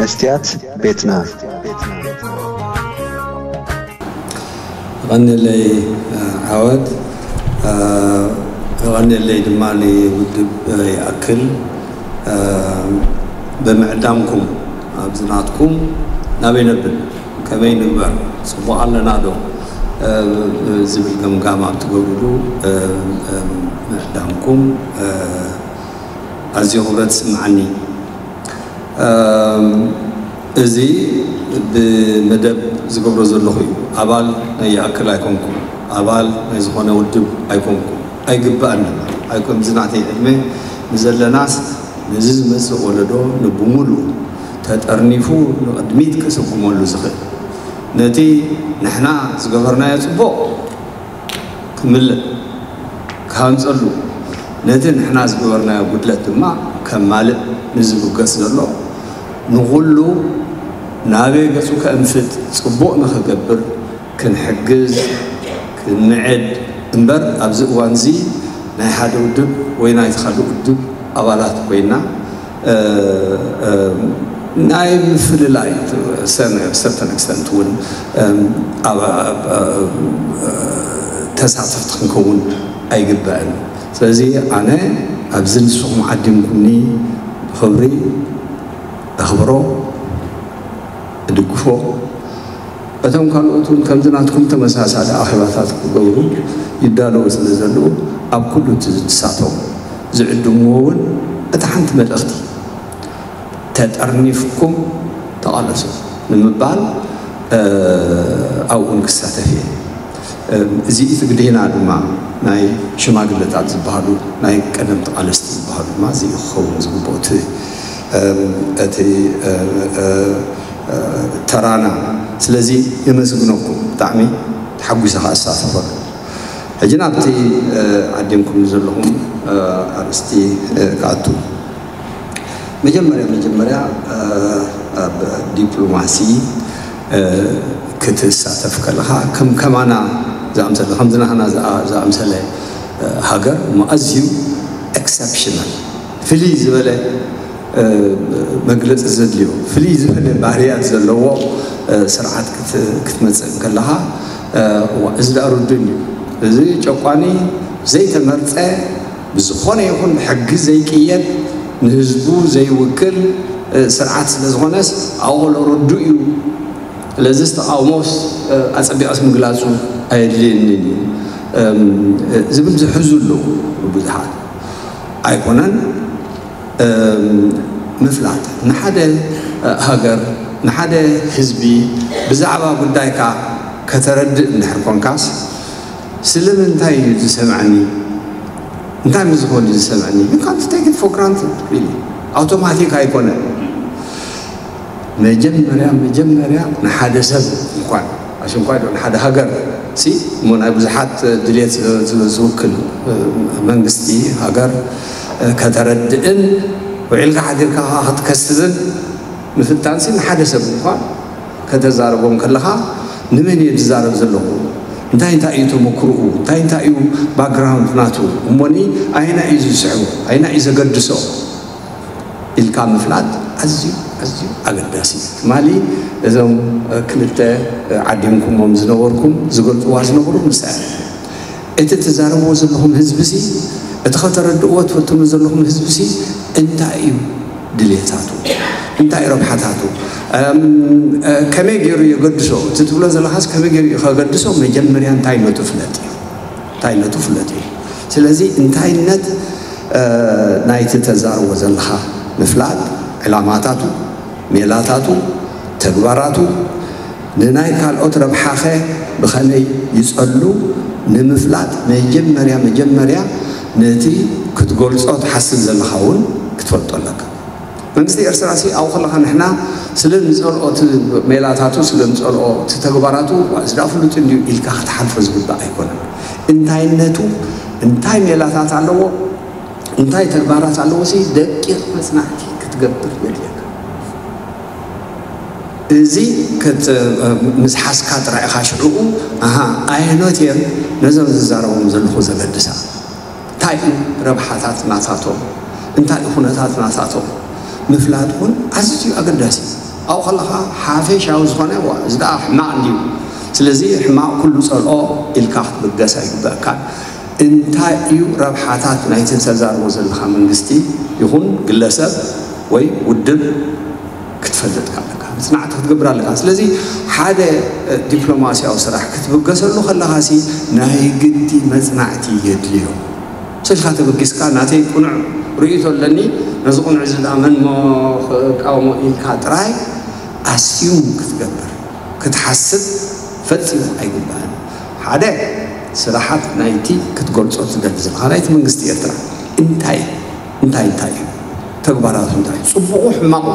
መስትያት ቤትና። የቐንየለይ ዓወት፣ የቐንየለይ ድማ ንውድብ ይኣክል። ብምዕዳምኩም ኣብዚ ናትኩም ናበይ ነብል፣ ከመይ ንግበር፣ ጽቡቕ ኣለና ዶ ዝብል ገምጋም ኣብ ትገብርሉ ምዕዳምኩም ኣዝዩ ክብረት ይስምዓኒ። እዚ ብመደብ ዝገብሮ ዘለኹ እዩ። ኣባል ናይ ይኣክል ኣይኮንኩም፣ ኣባል ናይ ዝኾነ ውድብ ኣይኮንኩም፣ ኣይግባእን ድማ ኣይኮን። እዚ ናተይ ዕድመ ንዘለናስ ነዚ ዝመጽእ ወለዶ ንብሙሉ ተጠርኒፉ ንቕድሚት ክስጉመሉ ዝኽእል፣ ነቲ ንሕና ዝገበርናዮ ጽቡቕ ክምልእ ክሃንጸሉ፣ ነቲ ንሕና ዝገበርናዮ ጉድለት ድማ ከማልእ ንዝብገስ ዘሎ፣ ንኹሉ ናበይ ገጹ ከእንፍት ጽቡቕ ንኽገብር ክንሕግዝ ክንምዕድ እምበር፣ ኣብዚ እዋንዚ ናይ ሓደ ውድብ ወይ ናይቲ ካልእ ውድብ ኣባላት ኮይና ናይ ምፍልላይ ሰርተን ኤክስተንት እውን ተሳተፍቲ ክንከውን ኣይግባእን። ስለዚ ኣነ ኣብዚ ንስኹም ዓዲምኩምኒ ብኽብሪ ኣኽብሮ፣ እድግፎ። እቶም ካልኦት እውን ከምዚ ናትኩም ተመሳሳሊ ኣኼባታት ክገብሩ ይዳለዉ ስለ ዘለዉ ኣብ ኩሉ እቲ ዝንሳቶም ዝዕድምዎ እውን እታ ሓንቲ መልእኽቲ ተጠርኒፍኩም ተቓለሱ ንምባል ኣብኡን ክሳተፍ እየ። እዚ እቲ ግዴና ድማ ናይ ሽማግለታት ዝበሃሉ ናይ ቀደም ተቓለስቲ ዝበሃሉ ድማ እዚ ክኸውን ዝግብኦ እቲ ተራና። ስለዚ የመስግነኩም፣ ብጣዕሚ ተሓጒሰ ከዓ እሳተፈሉ። ሕጂ ናብቲ ዓዲምኩም ዘለኹም ኣርእስቲ ክኣቱ። መጀመርያ መጀመርያ ኣብ ዲፕሎማሲ ክትሳተፍ ከለኻ ከም ከማና ዝኣምሰለ ከምዚ ናህና ዝኣምሰለ ሃገር እሞ ኣዝዩ ኤክሰፕሽናል ፍልይ ዝበለ መግለፂ ዘድልዮ ፍልይ ዝበለ ባህርያት ዘለዎ ስርዓት ክትመፅእ ከለኻ እዚ ዳኣ ርዱን እዩ። እዚ ጨቋኒ ዘይተመርፀ ብዝኾነ ይኹን ብሕጊ ዘይቅየድ ንህዝቡ ዘይውክል ስርዓት ስለ ዝኾነስ ኣብኡ ከሎ ርዱእ እዩ። ስለዚስ ተቓውሞስ ኣፀቢቐስ ምግላፁ ኣየድልየንን እዩ ዝብል ዝሕዙ ኣለዉ ብዙሓት። ኣይኮነን ምፍላጥ ንሓደ ሃገር ንሓደ ህዝቢ ብዛዕባ ጉዳይካ ከተረድእ እንድሕር ኮንካስ ስለምንታይ እዩ ዝሰምዐኒ እንታይ ምዝኾን እዩ ዝሰምዐኒ you can't take it for granted really ኣውቶማቲክ ኣይኮነ መጀመርያ መጀመርያ ንሓደ ሰብ እንኳን ኣሽንኳይ ዶ ንሓደ ሃገር ሲ እሞ ናይ ብዙሓት ድልየት ዝውክል መንግስቲ ሃገር ከተረድእን ውዒልካ ሓዲርካ ክትከስብን ምፍታንሲ ንሓደ ሰብ እንኳን ከተዛረቦም ከለኻ ንመን እየ ዝዛረብ ዘለኹ እንታይ እንታይ እዩ ተመክርኡ እንታይ እንታይ እዩ ባክግራውንድ ናቱ እሞኒ ኣየና እዩ ዝስዕቡ ኣየና እዩ ዘገድሶ ኢልካ ምፍላጥ ኣዝዩ ኣዝዩ ኣገዳሲ እዩ። ትማሊ እዞም ክልተ ዓዲምኩሞም ዝነበርኩም ዝገልፅዋ ዝነበሩ ንሳ እቲ ትዛረብዎ ዘለኹም ህዝቢ ሲ እቲ ከተረድእዎ ትፈትኑ ዘለኹም ህዝቢ ሲ እንታይ እዩ ድልየታቱ እንታይ ረብሓታቱ ከመይ ገይሩ የገድሶ እቲ ትብሎ ዘለኻስ ከመይ ገይሩ ከገድሶ መጀመርያ እንታይነቱ ፍለጥ እዩ እንታይነቱ ፍለጥ እዩ ስለዚ እንታይነት ናይቲ ተዛርቦ ዘለኻ ምፍላጥ ዕላማታቱ ሜላታቱ ተግባራቱ ንናይ ካልኦት ረብሓኸ ብኸመይ ይጸሉ ንምፍላጥ መጀመርያ መጀመርያ ነቲ ክትገልጾ ትሓስብ ዘለኻ እውን ክትፈልጦ ኣለካ። መንግስቲ ኤርትራ ሲ ኣብኡ ከለኻ ንሕና ስለ ንጸልኦ እቲ ሜላታቱ ስለ ንጸልኦ እቲ ተግባራቱ እዚ ደኣ ፍሉጥ እንድዩ ኢልካ ክትሓልፎ ዝግባእ ኣይኮነን። እንታይነቱ እንታይ ሜላታት ኣለዎ እንታይ ተግባራት ኣለዎ ሲ ደቂቕ መጽናዕቲ ክትገብር የድልየካ። እዚ ምስ ሓዝካ ጥራይ ኢኻ ሽዕኡ ኣሃ ኣየኖት እየን ነዞም ዝዛረቦም ዘለኹ ዘገድሳ እንታይ እዩ ረብሓታት ናታቶም እንታይ እዩ ኩነታት ናታቶም ምፍላጥ እውን ኣዝዩ ኣገዳሲ እዩ። ኣብኡ ከለኻ ሓፈሻዊ ዝኾነ፣ "ዋ፣ እዚ ደኣ ሕማቕ እንድዩ፣ ስለዚ ሕማቕ ኩሉ ጸልኦ" ኢልካ ክትብገስ ኣይግበኣካን። እንታይ እዩ ረብሓታት ናይቲ ተዛርቦ ዘለኻ መንግስቲ ይኹን ግለሰብ ወይ ውድብ ክትፈልጥ ኣለካ፣ መጽናዕቲ ክትገብር ኣለካ። ስለዚ ሓደ እ፣ ዲፕሎማስያዊ ስራሕ ክትብገሰሉ ከለኻሲ ናይ ግዲ መጽናዕቲ የድልዮ። ስልካ ተበጊስካ ናተይ ቅኑዕ ርእይቶ ኣለኒ፣ ነዚ ቅኑዕ እዚ ደኣ መን እሞ ክቃወሞ ኢልካ ጥራይ ኣስዩም ክትገብር ክትሓስብ ፈጺሙ ኣይግባእን። ሓደ ስራሓት ናይቲ ክትገልጾ ትደሊ ዘለኻ ናይቲ መንግስቲ ኤርትራ እንታይ እንታይ እንታይ እዩ፣ ተግባራቱ እንታይ እዩ፣ ጽቡቑ ሕማቑ፣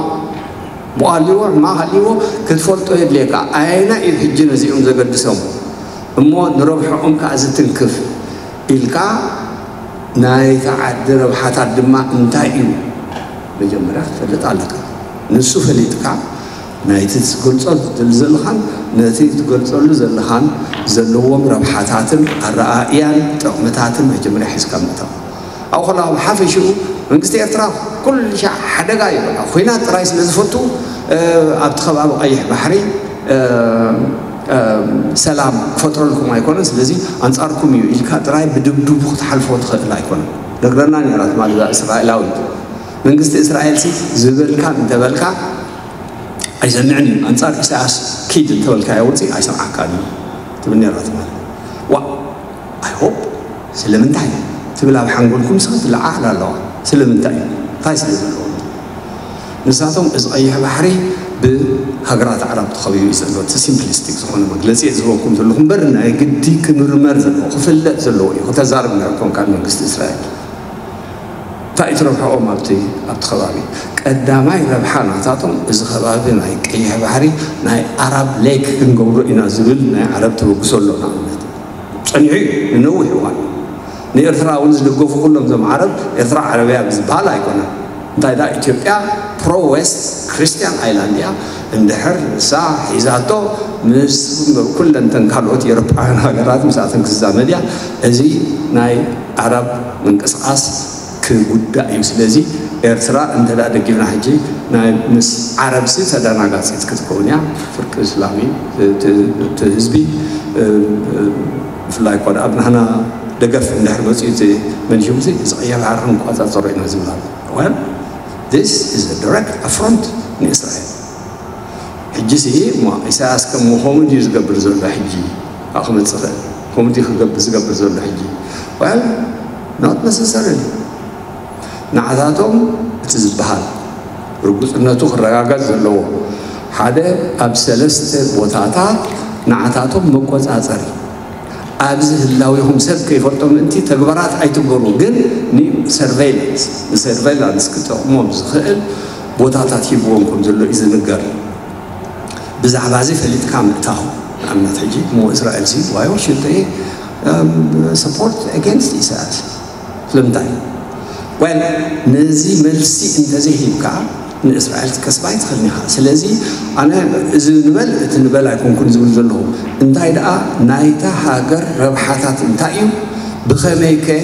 ብኣልዎ ሕማቕ ሃልዎ ክትፈልጦ የድልየካ። ኣየና እዩ ሕጂ ነዚኦም ዘገድሶም እሞ ንረብሐኦም ከኣ ዝትንክፍ ኢልካ ናይቲ ዓዲ ረብሓታት ድማ እንታይ እዩ መጀመርያ ክትፈልጥ ኣለካ። ንሱ ፈሊጥካ ናይቲ ትገልጾ ትደሊ ዘለኻን ነቲ ትገልጸሉ ዘለኻን ዘለዎም ረብሓታትን ኣረኣእያን ጥቕምታትን መጀመርያ ሒዝካ ምእታው። ኣብኡ ከለኻ ብሓፈሽኡ መንግስቲ ኤርትራ ኩሉ ሻዕ ሓደጋ እዩ። በቃ ኲናት ጥራይ ስለ ዝፈቱ፣ እ፣ ኣብቲ ከባቢ ቀይሕ ባሕሪ፣ እ፣ እ፣ ሰላም ክፈጥረልኩም ኣይኮነን፣ ስለዚ ኣንጻርኩም እዩ ኢልካ ጥራይ ብድብድቡ ክትሓልፎ ትኽእል ኣይኮነን። ነግረና ነይራ ትማሊ እዛ እስራኤላዊት። መንግስቲ እስራኤልሲ ዝበልካ እንተበልካ ኣይሰምዕን እዩ። ኣንጻር ኢሳያስ ኪድ እንተበልካዮ ውፅእ ኣይሰምዓካን እዩ ትብል ነይራ ትማሊ። ዋ፣ I hope ስለምንታይ ትብል ኣብ ሓንጎልኩም ስኻ ትለዓዓል ኣለዋ። ስለምንታይ? እንታይ ስለ ዘለዎ? ንሳቶም እዚ ቀይሕ ባሕሪ ብሃገራት ዓረብ ተኸቢቡ እዩ ዘሎ። እቲ ሲምፕሊስቲክ ዝኾነ መግለጺ እየ ዝህበኩም ዘለኹ እምበር ናይ ግዲ ክምርመር ዘለዎ፣ ክፍለጥ ዘለዎ እዩ። ክተዛርብ ነርኩም ካብ መንግስቲ እስራኤል። እንታይ እዩ እቲ ረብሓኦም ኣብቲ ኣብቲ ከባቢ? ቀዳማይ ረብሓ ናታቶም እዚ ከባቢ ናይ ቀይሕ ባሕሪ ናይ ኣራብ ሌክ ክንገብሮ ኢና ዝብል ናይ ዓረብ ተበግሶ ኣሎ። ንኣብነት ጸኒሑ እዩ ንነዊሕ እዋን። ንኤርትራ እውን ዝድገፉ ኩሎም እዞም ዓረብ ኤርትራ ዓረብያ ብዝበሃል ኣይኮነን። እንታይ ደኣ ኢትዮጵያ ፕሮ ዌስት ክርስቲያን ኣይላንድ እያ። እንድሕር ንሳ ሒዛቶ ምስ ኩለንተን ካልኦት ኤውሮጳውያን ሃገራት ምስኣተን ክዛመድ እያ። እዚ ናይ ዓረብ ምንቅስቃስ ክጉዳእ እዩ። ስለዚ ኤርትራ እንተ ደኣ ደጊፍና ሕጂ ናይ ምስ ዓረብሲ ተደናጋጺት ክትከውን እያ። ፍርቂ እስላም እዩ እቲ እቲ ህዝቢ። እ፣ እ፣ ብፍላይ እኳ ደኣ ኣብ ናህና ደገፍ እንድሕር መጺኡ እቲ መንሽም እዚ እዚ ቀይሕ ባሕሪ ክንቆጻጸሮ ኢና ዝብል ኣሎ። Well, this is a direct affront ንእስራኤል። ሕጂ ሲ እሞ ኢሳያስ ከም ኮሜዲ እዩ ዝገብር ዘሎ። ሕጂ ኣብ ክመጽእ ይኽእል ኮሜዲ ክገብር ዝገብር ዘሎ ሕጂ። Well, not necessarily። ንዓታቶም እቲ ዝበሃል ርጉጽነቱ ክረጋገጽ ዘለዎ ሓደ ኣብ ሰለስተ ቦታታት ንዓታቶም መቆጻጸሪ ኣብዚ ህላዊኹም ሰብ ከይፈልጦ ምእንቲ ተግባራት ኣይትግበሩ፣ ግን ንሰርቬይላንስ ንሰርቬይላንስ ክጠቕሞም ዝኽእል ቦታታት ሂብዎም ከም ዘሎ እዩ ዝንገር። ብዛዕባ እዚ ፈሊጥካ ምእታው። ንኣብነት ሕጂ እሞ እስራኤል ሲ ዋይ ሹድ ሰፖርት ኣጌንስት ኢሳያስ? ስለምንታይ? Well፣ ነዚ መልሲ እንተዘይሂብካ ንእስራኤል ክትከስባ ኣይትኽእልን ኢኻ። ስለዚ ኣነ እዚ ንበል እቲ ንበል ኣይኮንኩን ዝብል ዘለኹ። እንታይ ደኣ ናይታ ሃገር ረብሓታት እንታይ እዩ? ብኸመይ ከ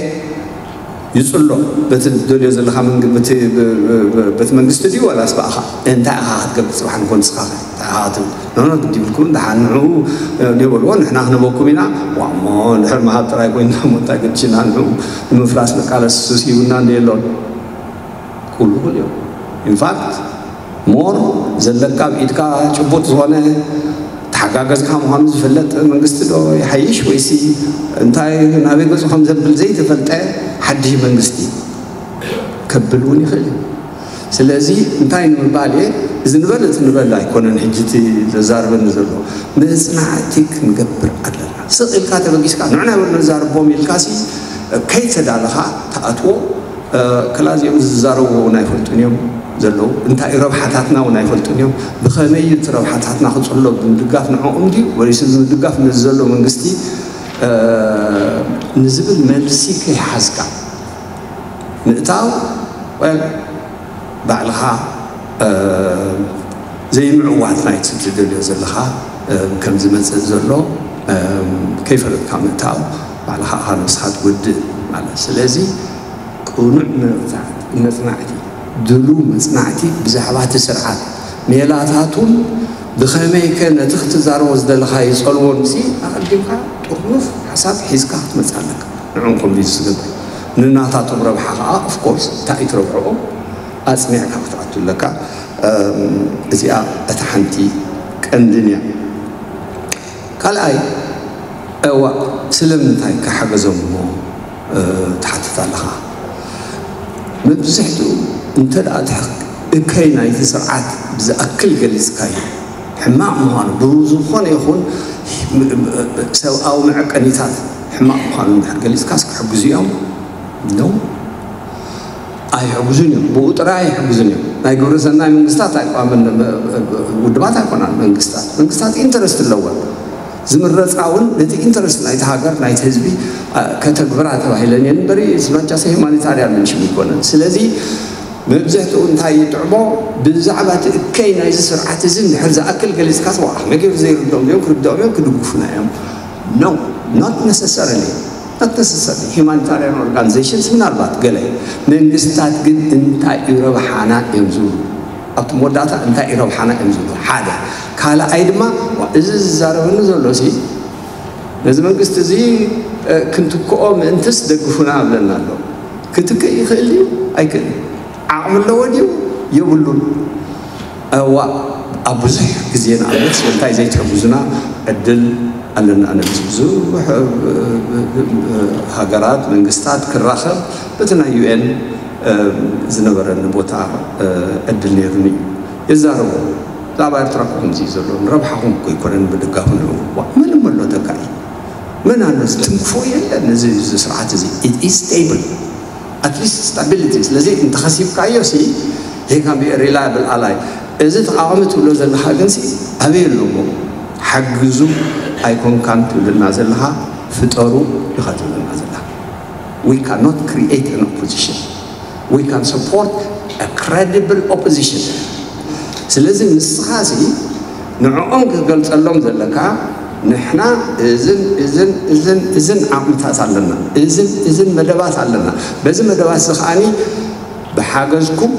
ይጽሎ? በቲ ትደልዮ ዘለኻ መንግ-፣ በቲ ብ-፣ ብ-፣ ብ-፣ በቲ መንግስቲ ድዩ ዋላስ ብኣኻ? እንታይ ኢኻ ክትገብር ጽባሕ ንኾን ንስኻ እንታይ ኢኻ ክትብል? ኖ፣ ኖ፣ ግዲ ይብልኩም፣ ደሓን ንዕኡ፣ እ፣ ዘይበልዎ ንሕና ክንበኩም ኢና። ዋ፣ እሞ እንድሕር ምሃብ ጥራይ ኮይንና እሞ እንታይ ገድሽና ንዕኡ ንምፍራስ ንቃለስ ሱስ ሂቡና እንደ የሎን። ኩሉ ይኽእል እዮም። ኢንፋክት ሞር ዘለካ ኣብ ኢድካ ጭቡጥ ዝኾነ ተሓጋገዝካ ምዃኑ ዝፍለጥ መንግስቲ ዶ ይሓይሽ ወይሲ እንታይ ናበይ ገጹ ከም ዘብል ዘይተፈልጠ ሓድሽ መንግስቲ ከብል እውን ይኽእል እዩ። ስለዚ እንታይ ንምባል እየ፣ እዚ ንበል እቲ ንበል ኣይኮነን ሕጂ እቲ ዘዛርበኒ ዘሎ። መጽናዕቲ ክንገብር ኣለና። ስቕ ኢልካ ተበጊስካ ንዕና ይበሉ ነዛርቦም ኢልካ ሲ ከይተዳለኻ ትኣትዎ። እ፣ ክላ እዚኦም ዝዛረቡ እውን ኣይፈልጡን እዮም ዘለዉ። እንታይ እዩ ረብሓታትና እውን ኣይፈልጡን እዮም። ብኸመይ እዩ እቲ ረብሓታትና ክጽሎ? ብምድጋፍ ንዕኦም ድዩ ወይስ ብምድጋፍ ነዚ ዘሎ መንግስቲ፣ እ፣ ንዝብል መልሲ ከይሓዝካ ምእታው፣ ወል፣ ባዕልኻ፣ እ፣ ዘይምዕዋት ናይቲ ትደልዮ ዘለኻ፣ እ፣ ከም ዝመጽእ ዘሎ፣ እ፣ ከይፈለጥካ ምእታው፣ ባዕልኻ ኢኻ ነብስኻ ትጎድእ ማለት። ስለዚ ቅኑዕ መጽናዕቲ፣ መጽናዕቲ፣ ድሉው መጽናዕቲ ብዛዕባ እቲ ስርዓት፣ ሜላታቱን ብኸመይከ ነቲ ክትዛረቦ ዝደለኻዮ ጸልዎን ሲ ኣቐዲምካ ጥርኑፍ ሓሳብ ሒዝካ ክትመጽእ ኣለካ። ንዕኦም ኮንቪንስ ትገብር፣ ንናታቶም ረብሓ ከዓ ኦፍኮርስ እንታይ እዩ ትረብሕኦም ኣጽኒዕካ ክትኣቱ ኣለካ። እዚኣ እታ ሓንቲ ቀንድን እያ። ካልኣይ፣ እዋ ስለምንታይ ክሓገዞም እሞ ትሓትት ኣለኻ? መብዝሕትኡ እንተ ደኣ እከይ ናይቲ ስርዓት ብዝኣክል ገሊጽካዮ፣ ሕማቕ ምዃኑ፣ ብዝኾነ ይኹን ሰብኣዊ መዐቀኒታት ሕማቕ ምዃኑ እንድሕር ገሊጽካስ ክሕግዙ እዮም? ኖ፣ ኣይሕግዙን እዮም። ብኡ ጥራይ ኣይሕግዙን እዮም። ናይ ግብረ ሰናይ መንግስታት ኣይቋምን ውድባት ኣይኮናን መንግስታት። መንግስታት ኢንተረስት ኣለወን። ዝምረፃ እውን ነቲ ኢንተረስት ናይቲ ሃገር ናይቲ ህዝቢ ከተግብራ ተባሂለን እየን እምበሪ ዝባቻሰ ሂማኒታርያን ምንሽም ይኮነን። ስለዚ መብዝሕትኡ እንታይ ይጥዕሞ? ብዛዕባ እቲ እከይ ናይዚ ስርዓት እዚ እንድሕር ዝኣክል ገሊፅካ ተዋዓ መገብ ዘይርድኦም እዮም ክርድኦም እዮም ክድግፉና እዮም። No, not necessarily, not necessarily. Humanitarian organizations ምናልባት ገለ መንግስታት ግን እንታይ እዩ ረብሓና እዮም ዝብሉ ኣብቲ መወዳእታ እንታይ እዩ ረብሓና እዮም ዝብሉ ሓደ። ካልኣይ ድማ እዚ ዝዛረበኒ ዘሎ ሲ ነዚ መንግስቲ እዚ ክንትክኦ ምእንትስ ደግፉና ኣብለና ኣሎ። ክትክእ ይኽእል እዩ ኣይክእል፣ ዓቕሚ ኣለዎ ድዩ የብሉን። እዋ ኣብ ብዙሕ ግዜ ንኣብነት ስለምንታይ ዘይትሕግዙና ዕድል ኣለና። ኣነ ምስ ብዙሕ ሃገራት መንግስታት ክራኸብ በቲ ናይ ዩኤን ዝነበረኒ ቦታ ዕድል ነይሩኒ እዩ። የዛረቡ ብዛዕባ ኤርትራ እኮ ከምዚ እዩ ዘሎ፣ ንረብሓኹም እኮ ኣይኮነን ምድጋፍ ንዕኡ። ዋ፣ መን እሞ ኣሎ ተካኢ? መን ኣሎ? ዝትንክፎ የለን። እዚ እዚ ስርዓት እዚ it is stable, at least stability። ስለዚ እንተኸሲብካዮ ሲ he can be a reliable ally። እዚ ተቓዋሚ ትብሎ ዘለኻ ግን ሲ ኣበይ ኣሎ እሞ? ሓግዙ ኣይኮንካን ትብልና ዘለኻ፣ ፍጠሩ ኢኻ ትብልና ዘለኻ። We cannot create an opposition. We can support a credible opposition. ስለዚ ንስኻ ሲ ንዕኦም ክትገልጸሎም ዘለካ ንሕና እዝን እዝን እዝን እዝን ዓቕምታት ኣለና፣ እዝን እዝን መደባት ኣለና። በዚ መደባት እዚ ከዓኒ ብሓገዝኩም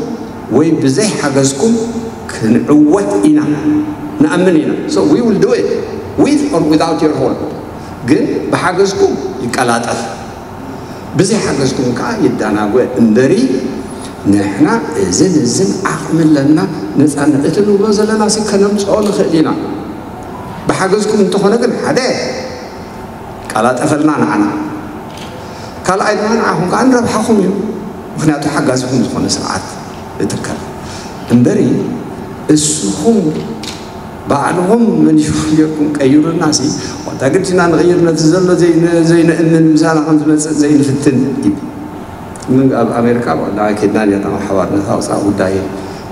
ወይ ብዘይ ሓገዝኩም ክንዕወት ኢና ንኣምን ኢና። So we will do it with or without your help። ግን ብሓገዝኩም ይቀላጠፍ። ብዘይ ሓገዝኩም ከዓ ይዳናጎ እምበሪ ንሕና እዝን እዝን ዓቕሚ ኣለና። ነፃነት እቲ ንብሎ ዘለና ሲ ከነምፅኦ ንኽእል ኢና። ብሓገዝኩም እንተኾነ ግን ሓደ ቀላጠፈልና ንዓና፣ ካልኣይ ድማ ንዓኹም ከዓ ንረብሓኹም እዩ። ምክንያቱ ሓጋዝኹም ዝኾነ ስርዓት እትከል እምበሪ እስኹም ባዕልኹም መንሽኩም ጌርኩም ቀይሩልና ሲ ዋታ ግድና ንቕይር ነቲ ዘሎ ዘይንእምን ምሳና ከም ዝመፅእ ዘይንፍትን እዩ። ኣብ ኣሜሪካ ዋላ ኬድና ኔርና ሓባር ነታ ወፃእ ጉዳይ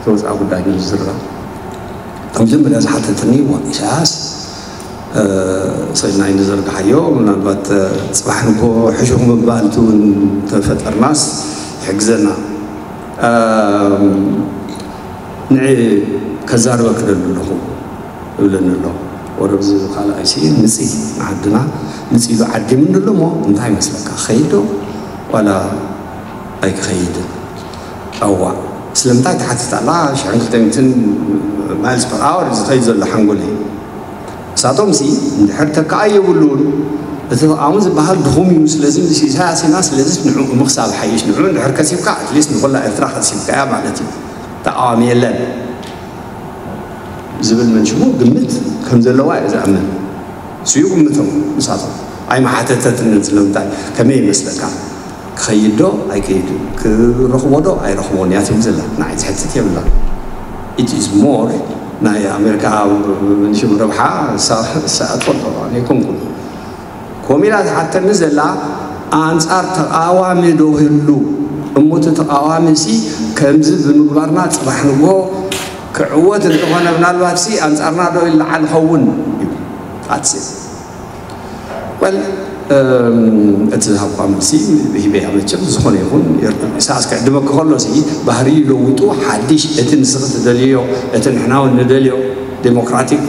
ተወፃእ ጉዳይ ንዝዝራ መጀመርያ ዝሓተትኒ ዋ ኢሳያስ ሰናይ ንዘርግሓዮ ምናልባት ፅባሕ ንጎ ሕሹኽ ምባል እውን ተፈጠርናስ ይሕግዘና። ንዕ ከዛርበ ክደሊ ኣለኹ እብለኒ ኣሎ። ወረብዚ ካልኣይ ሲ ምፅኢ ንዓድና ምፅኢሉ ዓዲሙኒ ኣሎ እሞ እንታይ ይመስለካ? ኸይድ ዶ ዋላ ኣይክኸይድን? ኣዋ ስለምንታይ ትሓትት ኣላ? ሽሕን ክልተ ሚእትን miles per hour ዝኸይድ ዘሎ ሓንጎለይ። ንሳቶም ሲ እንድሕር ተካኣይ የብሉን። እቲ ተቃዋሚ ዝበሃል ድኹም እዩ። ስለዚ ምስ ኢሳያስ ኢና። ስለዚ ንዕኡ ምክሳብ ሓይሽ ንዕኡ እንድሕር ከሲብካ ኣትሊስት ንኩላ ኤርትራ ከሲብካያ ማለት እዩ። ተቃዋሚ የለን ዝብል መንሽሙ ግምት ከም ዘለዋ እየ ዝኣምን። እሱ ይግምቶም ንሳቶም ኣይመሓተተትንን ስለምንታይ ከመይ ይመስለካ? ክኸይድ ዶ ኣይከይድን ክረኽቦ ዶ ኣይረኽቦን እያ ትብል ዘላ ንዓይ ዝሕትት የብላ። It is more ናይ ኣሜሪካ ንሽም ረብሓ እሳ ትፈልጦ ኣይኮንኩን። ኮሚላ ትሓተኒ ዘላ ኣንፃር ተቃዋሚ ዶ ህሉ እሞ እቲ ተቃዋሚ ሲ ከምዚ ብምግባርና ፅባሕ ንጎ ክዕወት እንተኾነ ምናልባት ሲ ኣንፃርና ዶ ይለዓል ኸውን? That's it። Well እቲ ዝሃብኳ መልሲ ሂበያ መቸም ዝኾነ ይኹን ኢሳያስ ክዕድመኪ ከሎ ሲ ባህርዩ ለዊጡ ሓድሽ እቲ ንስኺ ትደልዮ እቲ ንሕና እውን ንደልዮ ዴሞክራቲክ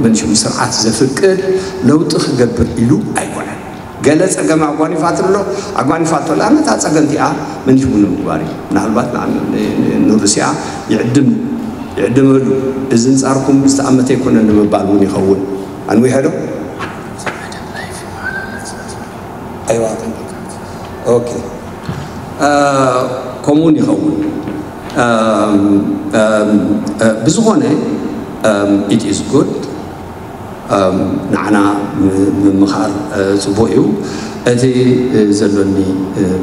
መንሽም ስርዓት ዘፍቅድ ለውጢ ክገብር ኢሉ ኣይኮነን። ገለ ጸገም ኣጓኒፋትሎ ኣጓኒፋቶ ላ ነታ ጸገም እቲኣ መኒሽቡ ንምግባር እዩ። ምናልባት ንሩስያ ይዕድም ይዕድመሉ፣ እዚ እንጻርኩም ዝተኣመተ ኣይኮነን ንምባል እውን ይኸውን። ኣንዊሐ ዶ? ኣይዋ ኦኬ። ከምኡውን ይኸውን። ብዝኾነ it is good። ንዓና ምምኻር ጽቡቕ እዩ። እቲ ዘሎኒ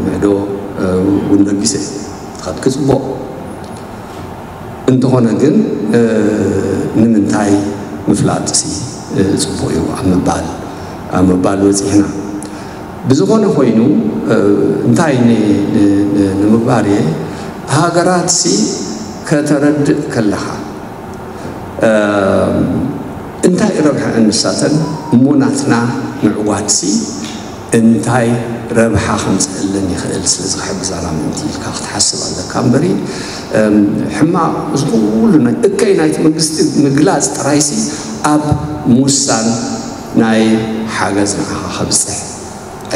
ምዕዶ እውን ለጊሰ ክኸድኪ ጽቡቕ። እንተኾነ ግን ንምንታይ ምፍላጥሲ ጽቡቕ እዩ ኣብ ምባል ኣብ ምባል በጺሕና። ብዝኾነ ኮይኑ እንታይ ንምባር እየ፣ ሃገራትሲ ከተረድእ ከለኻ እንታይ ረብሐ እንሳተን እሞ ናትና ምዕዋትሲ እንታይ ረብሓ ከምፅእለን ይኽእል ስለ ዝሕግዛና ምእንቲ ኢልካ ክትሓስብ ኣለካ እምበሪ ሕማቕ እዚ ኩሉ እከይ ናይቲ መንግስቲ ምግላፅ ጥራይሲ ኣብ ምውሳን ናይ ሓገዝ ንዓኻ ከብፅሕ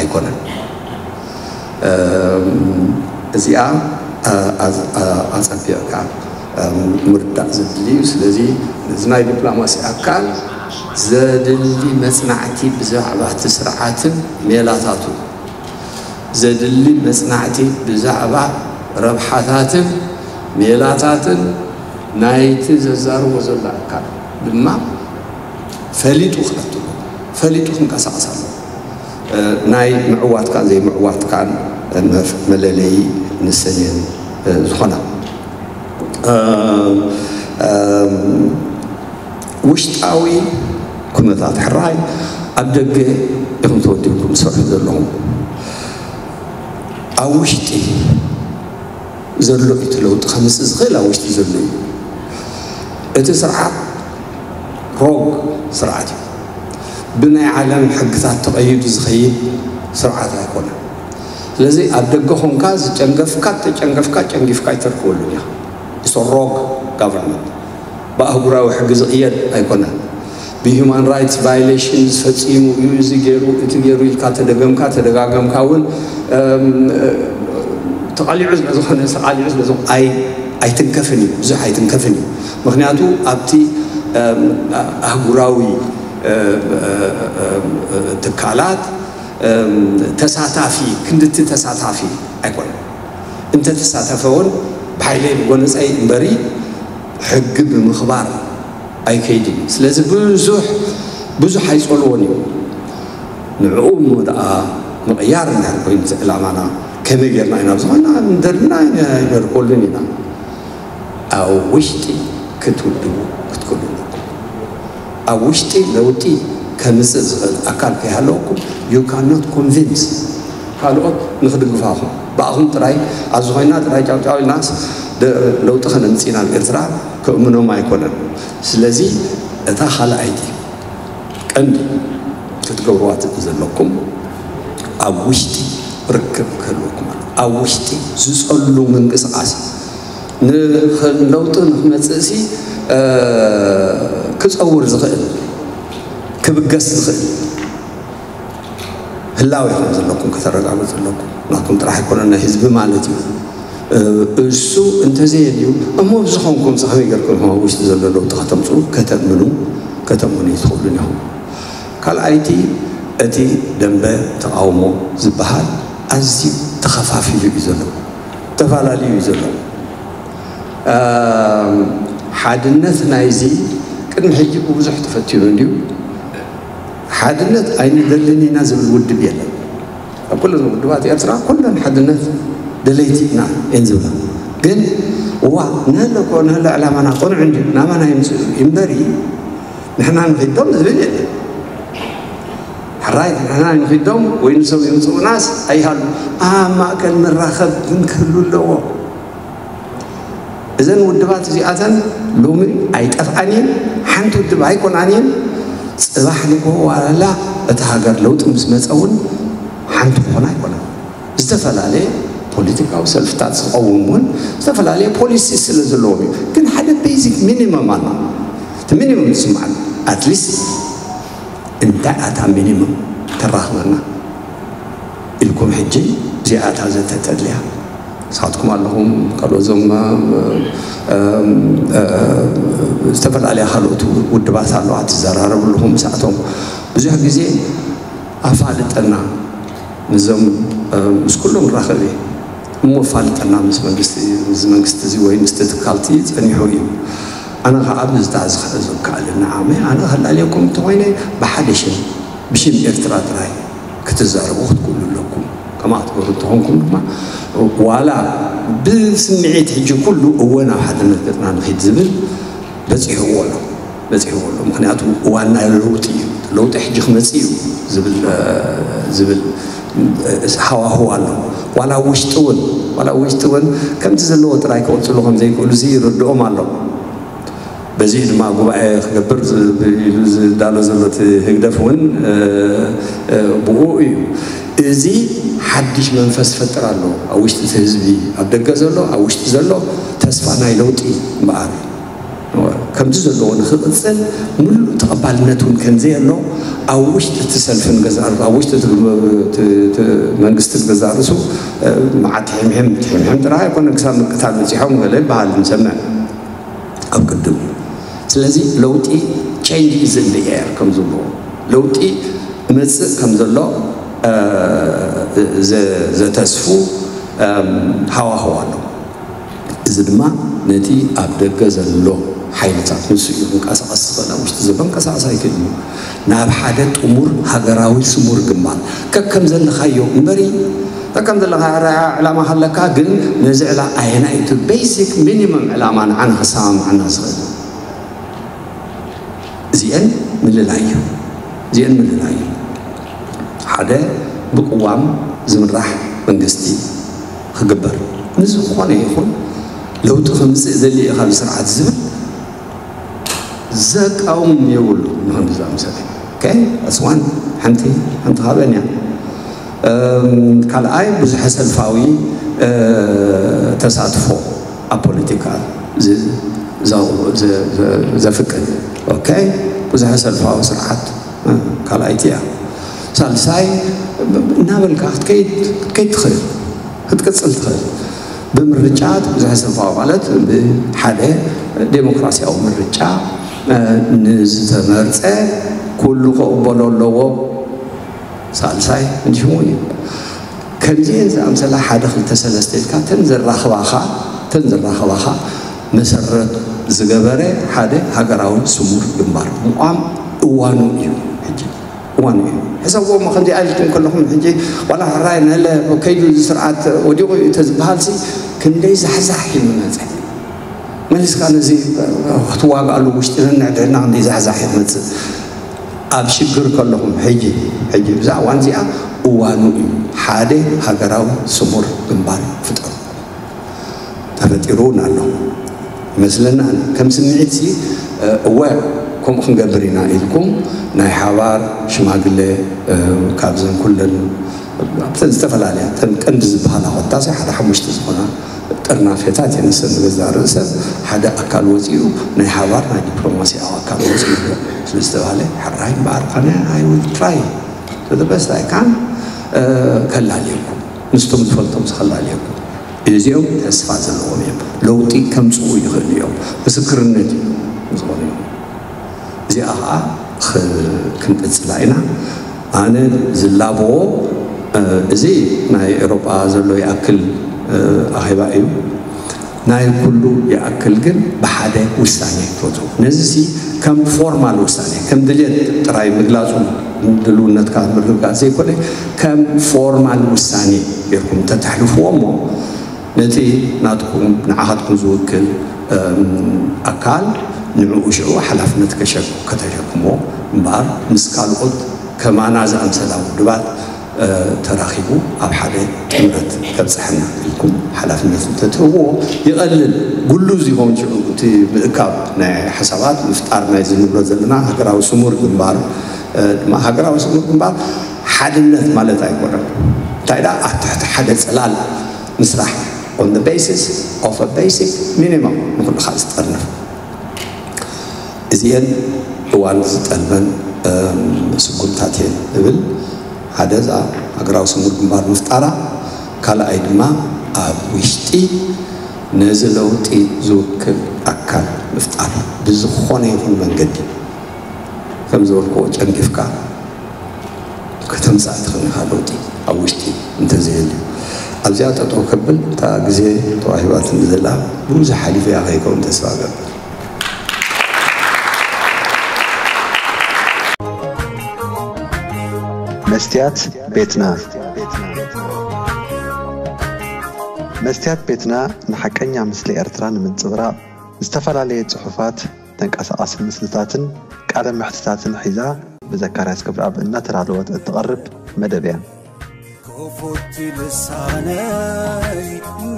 ኣይኮነን። እዚኣ ኣፀቢቕካ ምርዳእ ዘድሊ እዩ። ስለዚ እዚ ናይ ዲፕሎማሲ ኣካል ዘድሊ መፅናዕቲ ብዛዕባ እቲ ስርዓትን ሜላታቱ ዘድሊ መፅናዕቲ ብዛዕባ ረብሓታትን ሜላታትን ናይቲ ዘዛርቦ ዘሎ ኣካል ድማ ፈሊጡ ክኣትዎ ፈሊጡ ክንቀሳቐስ ኣለዎ። ናይ ምዕዋትካን ዘይምዕዋትካን መለለዪ ንሰን እየን ዝኾና። ውሽጣዊ ኩነታት ሕራይ ኣብ ደገ ኢኹም ተወዲብኩም ትሰርሑ ዘለኹም። ኣብ ውሽጢ ዘሎ እቲ ለውጢ ከምፅእ ዝኽእል ኣብ ውሽጢ ዘሎ እዩ። እቲ ስርዓት ሮግ ስርዓት እዩ። ብናይ ዓለም ሕግታት ተቐይዱ ዝኸይድ ስርዓት ኣይኮነን። ስለዚ ኣብ ደገ ኾንካ ዝጨንገፍካ ተጨንገፍካ ጨንጊፍካ ኣይተርክበሉን ኢኻ። It's a rogue government። ብኣህጉራዊ ሕጊ ዝቕየድ ኣይኮነን። ብሂማን ራይትስ ቫይሌሽን ዝፈፂሙ እዩ እዚ ገይሩ እቲ ገይሩ ኢልካ ተደገምካ ተደጋገምካ እውን ተቓሊዑ ስለዝኾነ ተቓሊዑ ስለዝኾነ ኣይትንከፍን እዩ ብዙሕ ኣይትንከፍን እዩ። ምክንያቱ ኣብቲ ኣህጉራዊ ትካላት ተሳታፊ ክንድቲ ተሳታፊ ኣይኮነን። እንተተሳተፈ እውን ብሓይለይ ብጎነፀይ እምበሪ ሕጊ ብምኽባር ኣይከይድን እዩ። ስለዚ ብዙሕ ብዙሕ ኣይፀልዎን እዩ። ንዕኡ እሞ ደኣ ምቕያር እንድሕር ኮይኑ እቲ ዕላማና ከመይ ጌርና ኢና ብዝኾና እንደልና ኣይነርከሉን ኢና። ኣብ ውሽጢ ክትውድቡ ክትክእሉ ኣለኩም። ኣብ ውሽጢ ለውጢ ከምፅእ ዝኽእል ኣካል ከይሃለወኩም you cannot convince ካልኦት ንክድግፋኹም ብኣኹም ጥራይ ኣብዚ ኮይና ጥራይ ጫውጫው ኢልናስ ለውጢ ከነምፅእ ኢና ኣብ ኤርትራ ከእምኖም ኣይኮነን። ስለዚ እታ ካልኣይቲ ቀንዲ ክትገብርዋ ዘለኩም ኣብ ውሽጢ ርክብ ክህልወኩም ኣሎ። ኣብ ውሽጢ ዝፀሉ ምንቅስቃስ ንለውጢ ንክመፅእሲ ክፀውር ዝኽእል ክብገስ ዝኽእል ህላወ ከም ዘለኩም ከተረጋግፁ ኣለኩም። ናትኩም ጥራሕ ኣይኮነን ናይ ህዝቢ ማለት እዩ። እሱ እንተዘየድዩ እሞ ብዝኾንኩም ከመይ ገርኩም ኣብ ውሽጢ ዘሎ ለውጢ ከተምፁ ከተእምኑ ከተእምኑ ይትኽእሉን ኢኹም። ካልኣይቲ እቲ ደንበ ተቃውሞ ዝበሃል ኣዝዩ ተኸፋፊሉ እዩ ዘሎ ተፈላለዩ እዩ ዘሎ። ሓድነት ናይዚ ቅድሚ ሕጂ ብብዙሕ ተፈቲኑ እንድዩ። ሓድነት ኣይንደልን ኢና ዝብል ውድብ የለን። ኣብ ኩለን ውድባት ኤርትራ ኩለን ሓድነት ደለይቲ ኢና እየን ዝብላ። ግን እዋ ንህለ እኮ ንህለ ዕላማና ቅኑዕ እንድዩ ናባና ይምፅእ እዩ እምበሪ ንሕና ንኺዶም ዝብል የለን። ሕራይ ንሕና ንኺዶም ወይ ንሶም ይምፅኡናስ ኣይሃሉ ኣብ ማእከል ንራኸብ ግን ክህሉ ኣለዎ። እዘን ውድባት እዚኣተን ሎሚ ኣይጠፍኣን እየን። ሓንቲ ውድብ ኣይኮናን እየን። ፅባሕ ንግሆ ዋላ እታ ሃገር ለውጢ ምስ መፀ እውን ሓንቲ ክኾና ኣይኮናን። ዝተፈላለየ ፖለቲካዊ ሰልፍታት ዝቐውም እውን ዝተፈላለየ ፖሊሲ ስለ ዘለዎም እዩ። ግን ሓደ ቤዚክ ሚኒመም ኣሎ። እቲ ሚኒመም ዝስማዕ ኣትሊስት እንታይ ኣታ ሚኒመም ተራኽበና ኢልኩም ሕጂ እዚኣታ ዘተተድልያ ንስኻትኩም ኣለኹም፣ ካልኦት ዞም እም፣ እ፣ ዝተፈላለያ ካልኦት ውድባት ኣለዋ ትዘራረቡ ኣለኹም። ምስኣቶም ብዙሕ ግዜ ኣፋልጠና፣ ምስዞም፣ እ፣ ምስ ኩሎም ራኸብ እየ እሞ ኣፋልጠና፣ ምስ መንግስቲ፣ እዚ መንግስቲ እዚ ወይ ምስቲ ትካልቲ ጸኒሑ እዩ። ኣነ ከዓ ብዝታ ዝኽእል ዝከኣለኒ ዓመ ኣነ ከላልየኩም እንተኾይነ ብሓደ ሽም፣ ብሽም ኤርትራ ጥራይ ክትዛረቡ ክትክእሉ ኣለኩም። ከምኣ ክትገብሩ እንተኾንኩም ድማ ዋላ ብስምዒት ሕጂ ኩሉ እወ ናብ ሓድነት ገጽና ንኺድ ዝብል በጺሕዎ ኣሎ፣ በጺሕዎ ኣሎ። ምኽንያቱ እዋን ናይ ለውጢ እዩ። ለውጢ ሕጂ ክመጽእ እዩ ዝብል፣ እ፣ ዝብል፣ እ፣ ሃዋህው ኣሎ። ዋላ ኣብ ውሽጢ እውን፣ ዋላ ኣብ ውሽጢ እውን ከምቲ ዘለዎ ጥራይ ክቕጽሉ ከም ዘይክእሉ እዚ ይርድኦም ኣሎ። በዚ ድማ ጉባኤ ክገብር ዝ-፣ ኢሉ ዝዳሎ ዘሎ እቲ ህግደፍ እውን፣ እ፣ እ፣ ብኡ እዩ። እዚ ሓድሽ መንፈስ ይፈጥር ኣሎ ኣብ ውሽጢ እቲ ህዝቢ፣ ኣብ ደገ ዘሎ፣ ኣብ ውሽጢ ዘሎ ተስፋ ናይ ለውጢ እምበኣር ከምቲ ዘለዎ ንክቕጽል ምሉእ ተቐባልነት እውን ከም ዘየሎ ኣብ ውሽጢ እቲ ሰልፍን ገዛእ ርእሱ፣ ኣብ ውሽጢ እቲ፣ እቲ፣ እቲ መንግስትን ገዛእ ርእሱ፣ እ፣ መዓት ሕምሕም፣ ሕምሕም ጥራይ ኣይኮነን፣ ክሳብ ምቅታል በጺሖም ገለ ይበሃል ንሰምዕ ኣብ ቅድም። ስለዚ ለውጢ፣ change is in the air ከም ዝብልዎ፣ ለውጢ መጽእ ከም ዘሎ፣ እ፣ ዘ-፣ ዘተስፉ፣ እም፣ ሃዋህው ኣሎ። እዚ ድማ ነቲ ኣብ ደገ ዘሎ ሓይልታት፣ ንሱ እዩ ክንቀሳቐስ ዝኽእል፣ ኣብ ውሽጢ ዘሎ ክንቀሳቐስ ኣይክእልን እዩ። ናብ ሓደ ጥሙር ሃገራዊ ስሙር ግንባር ከከም ዘለኻዮ እምበሪ፣ ከከም ዘለኻ ኣረኣእያ ዕላማ ሃለካ፣ ግን ነዚ ዕላ-፣ ኣየናይ እቲ ቤሲክ ሚኒመም ዕላማ ንዓና ክሰማምዓና ዝኽእል? እዚአን ምልላይ እዩ። እዚአን ምልላይ እዩ። ሓደ ብቅዋም ዝምራሕ መንግስቲ ክግበር፣ ንዝኾነ ይኹን ለውጢ ከምፅእ ዘሊ እዩ ካብ ስርዓት ዝብል ዘቃውም የብሉ። ንክንዲ ዝኣምሰለ፣ ኦኬ፣ that's one፣ ሓንቲ፣ ሓንቲ ካብአን እያ። እም፣ ካልኣይ፣ ብዙሐ ሰልፋዊ፣ እ፣ ተሳትፎ ኣብ ፖለቲካ ዝ-፣ ዘ-፣ ዘ-፣ ዘ-፣ ዘፍቅድ፣ ኦኬ፣ ብዙሐ ሰልፋዊ ስርዓት፣ እ፣ ካልኣይቲ እያ። ሳልሳይ፣ እናበልካ ክትከይድ፣ ክትከይድ ትኽእል፣ ክትቅጽል ትኽእል። ብምርጫ፣ ብዙሐ ሰልፋዊ ማለት ብሓደ ዴሞክራሲያዊ ምርጫ፣ እ፣ ንዝተመርጸ ኩሉ ክቕበሎ ኣለዎ። ሳልሳይ እንዲሽሙ እዩ። ከምዚአን ዝኣምሰላ ሓደ ክልተ ሰለስተ ኢልካ ተን ዘራኽባኻ፣ ተን ዘራኽባኻ መሰረት ዝገበረ ሓደ ሃገራዊ ስሙር ግንባር ምቋም እዋኑ እዩ ሕጂ። እዋኑ እዩ። ሕሰብዎ እሞ ከምዚ ኢልኩም ከለኹም ሕጂ ዋላ ሕራይ ነለ ከይዱ እዚ ስርዓት ወዲቑ እዩ ተዝበሃልሲ ክንደይ ዛሕዛሕ እዩ ዝመጸ። መሊስካ ነዚ ክትዋግኣሉ ውሽጢ ነንሕድሕድና ክንደይ ዛሕዛሕ እዩ ዝመጽእ። ኣብ ሽግር ከለኹም ሕጂ፣ ሕጂ ብዛ እዋን እዚኣ እዋኑ እዩ። ሓደ ሃገራዊ ስሙር ግንባር ፍጠሩ። ተፈጢሩ እውን ኣሎ ይመስለና። ከም ስምዒት ሲ፣ እ፣ እወ ከምኡ ክንገብር ኢና ኢልኩም ናይ ሓባር ሽማግሌ፣ እ፣ ካብዘን ኩለን ኣብተን ዝተፈላለያ፣ እተን ቀንዲ ዝበሃላ ኮታስ ሓደ ሓሙሽተ ዝኾና ጥርናፌታት እየን። ንሰን ንገዛእ ርእሰን ሓደ ኣካል ወፂኡ፣ ናይ ሓባር ናይ ዲፕሎማሲያዊ ኣካል ወፂኡ ስለ ዝተባሃለ፣ ሕራይ እምበኣር፣ ኣነ I will try to the best I can፣ እ፣ ከላልየኩም፣ ምስቶም ዝፈልጦም ከላልየኩም። እዚኦም ተስፋ ዘለዎም እዮም። ለውጢ ከምፅኡ ይኽእሉ እዮም። ምስክርነት እዩ ዝኾኑ እዮም። እዚኣ ኸዓ ኽ-፣ ክንቅጽላ ኢና። ኣነ ዝላበዎ፣ እ፣ እዚ ናይ ኤውሮጳ ዘሎ ይኣክል፣ እ፣ ኣኼባ እዩ። ናይ ኩሉ ይኣክል ግን ብሓደ ውሳኔ ክወፁ። ነዚ ሲ ከም ፎርማል ውሳኔ፣ ከም ድልየት ጥራይ ምግላጹ ድልውነትካ ምርግጋጽ ዘይኮነ፣ ከም ፎርማል ውሳኔ ጌርኩም ተተሕልፍዎ እሞ፣ ነቲ ናትኩም፣ ንዓኻትኩም ዝውክል፣ እም፣ ኣካል ንዕኡ ሽዑ ሓላፍነት ከሸክ-፣ ከተሸክሞ እምበኣር፣ ምስ ካልኦት ከማና ዝኣምሰላ ውድባት፣ እ፣ ተራኺቡ ኣብ ሓደ ጥምረት ከብጽሐና ኢልኩም ሓላፍነት እንተትህብዎ ይቐልል። ግሉዝ ይኸውን ሽዑ እቲ ምእካብ ናይ ሓሳባት፣ ምፍጣር ናይዚ ንብሎ ዘለና ሃገራዊ ስሙር ግንባር፣ እ፣ ድማ ሃገራዊ ስሙር ግንባር ሓድነት ማለት ኣይኮነን። እንታይ ደኣ፣ ኣብ ትሕቲ ሓደ ጽላል ምስራሕ፣ on the basis of a basic minimum፣ ንኹሉ ከዓ ዝጠርንፍ። እዚአን እዋን ዝጠልበን፣ እም፣ ስጉምታት እየን እብል። ሓደ እዛ ሃገራዊ ስሙር ግንባር ምፍጣራ፣ ካልኣይ ድማ ኣብ ውሽጢ ነዚ ለውጢ ዝውክል ኣካል ምፍጣር፣ ብዝኾነ ይኹን መንገዲ ከም ዝበልክዎ ጨንጊፍካ ከተምፅእ ትኽእል ኢኻ ለውጢ ኣብ ውሽጢ እንተዘየልዩ። ኣብዚኣ ጠጠው ከብል እታ ግዜ ተዋሂባትኒ ዘላ ብዙሕ ሓሊፈያ ከይከውን ተስፋ እገብር። መስትያት ቤትና። መስትያት ቤትና ንሓቀኛ ምስሊ ኤርትራ ንምንጽብራቕ ዝተፈላለየ ጽሑፋት፣ ተንቀሳቓሲ ምስልታትን ቃለ መሕትታትን ሒዛ ብዘካርያስ ክብረኣብ እናተዳለወት እትቐርብ መደብ እያ። ክፉት ልሳነይ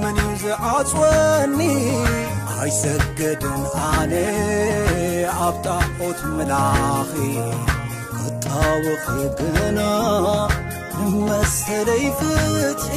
መን እዩ ዝዓጽወኒ? ኣይሰግድን ኣነ ኣብ ጣዖት ምላኺ ክጣወኺ ግና ንመሰለይ ፍትሒ